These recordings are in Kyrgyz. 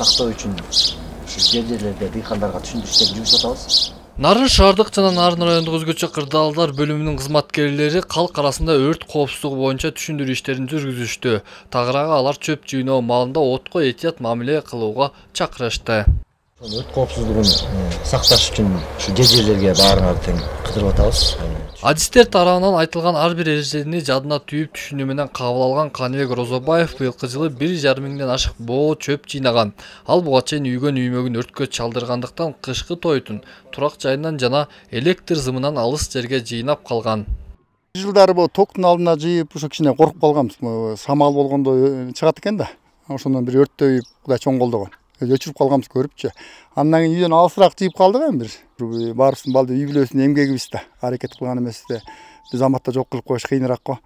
сактоо үчүн жер жерлерде дыйкандарга түшүндүрүштер жүргүзүп атабыз. Нарын шаардык жана Нарын райондук өзгөчө кырдаалдар бөлүмүнүн кызматкерлери калк арасында өрт коопсуздугу боюнча түшүндүрүү иштерин жүргүзүштү. Тагыраагы алар чөп жыйноо маалында отко этият мамиле кылууга чакырышты. Өрт коопсуздугун сакташ үчүн ушу жер жерлерге баарыңарды тең кыдырып атабыз. Адистер тарабынан айтылган ар бир эрежени жадына түйүп түшүнүү менен кабыл алган Каныбек Розобаев быйылкы жылы 1,5 миңден ашык боо чөп жыйнаган. Ал буга чейин үйгөн үймөгүн өрткө чалдыргандыктан кышкы тойтун турак жайынан жана электр зымынан алыс жерге жыйнап калган. Жылдары бул токтун алдына жыйып ошо кичине коркуп калганбыз. Самал болгондо чыгат экен да. Ошондон бир өрттөй Кудай чоң колдогон. Өчүрүп калганбыз көрүпчү. Андан кийин үйдөн алысыраак жыйып калдык эми бир. Баарыбыздын балды үй бүлөсүнүн эмгегибиз да. Аракет кылган эмеспизде. Биз аматта жок кылып коюш кыйыныраак го.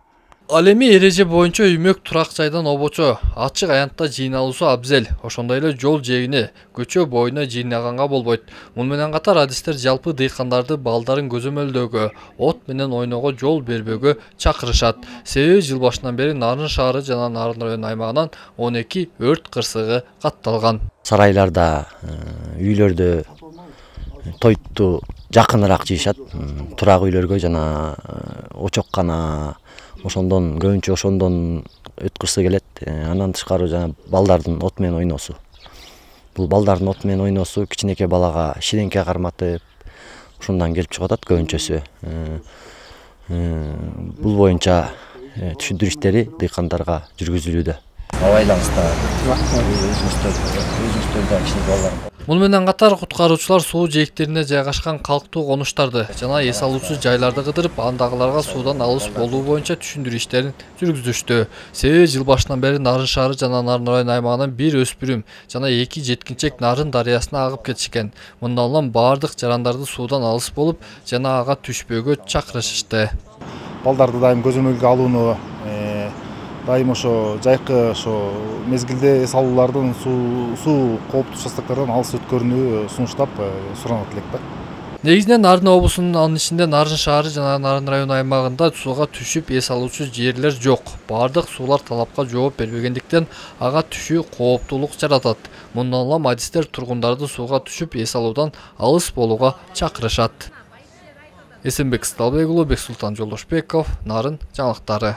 Ал эми эреже боюнча үймөк турак жайдан обочо, ачык аянтта жыйналуусу абзел. Ошондой эле жол жээгине, көчө боюна жыйнаганга болбойт. Муну менен катар адистер жалпы дыйкандарды балдарын көзөмөлдөөгө, от менен ойноого жол бербөөгө чакырышат. Себеби жыл башынан бери Нарын шаары жана Нарын району аймагынан 12 өрт кырсыгы катталган. Сарайларда, үйлөрдө тойту жакыныраак жыйышат. Турак үйлөргө жана очоккана ошондон көбүнчө ошондон өткүрсө келет. Андан тышкары жана балдардын от менен ойносу. Бул балдардын от менен ойносу кичинекей балага ширеңке карматып, ошондон келип чыгып атат көбүнчөсү. Бул боюнча түшүндүрүү иштери дыйкандарга жүргүзүлүүдө. Абайлаңыздар, өзүңүздөрдө кичинекей балдар. Муну менен катар куткаруучулар суу жээктерине жайгашкан калктуу конуштарды жана эс алуучу жайларды кыдырып, андагыларга суудан алыс болуу боюнча түшүндүрүү иштерин жүргүзүштү. Себеби жыл башынан бери Нарын шаары жана Нарын району аймагынан 1 өспүрүм жана 2 жеткинчек Нарын дарыясына агып кетишкен. Мындан улам баардык жарандарды суудан алыс болуп жана ага түшпөөгө чакырышышты. Балдарды дайым көзөмөлгө алууну, дайым ошо жайкы ошо мезгилде эс алуулардын суу кооптуу участоктордон алыс өткөрүүнү сунуштап суранат элек да. Негизинен Нарын облусунун анын ичинде Нарын шаары жана Нарын району аймагында сууга түшүп эс алуучу жерлер жок. Бардык суулар талапка жооп бербегендиктен ага түшүү кооптуулук жаратат. Мындан улам адистер тургундарды сууга түшүп эс алуудан алыс болууга чакырышат. Эсенбек Сталбек уулу, Бексултан Жолдошбеков, Нарын жаңылыктары.